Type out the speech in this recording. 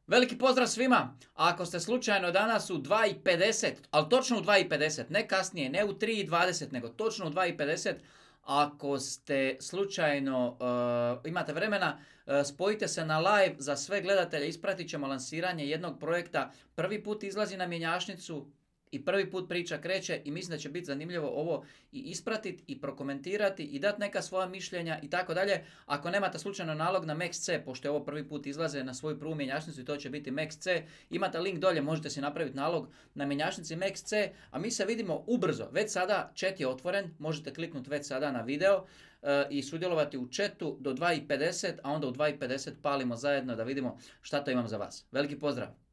Veliki pozdrav svima! Ako ste slučajno danas u 2:50, ali točno u 2:50, ne kasnije, ne u 3:20, nego točno u 2:50, ako ste slučajno imate vremena, spojite se na live za sve gledatelje, ispratit ćemo lansiranje jednog projekta. Prvi put izlazi na mjenjačnicu i prvi put priča kreće i mislim da će biti zanimljivo ovo i ispratiti i prokomentirati i dati neka svoja mišljenja i tako dalje. Ako nemate slučajno nalog na Max.c, pošto je ovo prvi put izlaze na svoju prvu mjenjačnicu i to će biti Max.c, imate link dolje, možete si napraviti nalog na mjenjačnici Max.c, a mi se vidimo ubrzo. Već sada chat je otvoren, možete kliknuti već sada na video i sudjelovati u chatu do 2:50, a onda u 2:50 palimo zajedno da vidimo šta to imam za vas. Veliki pozdrav!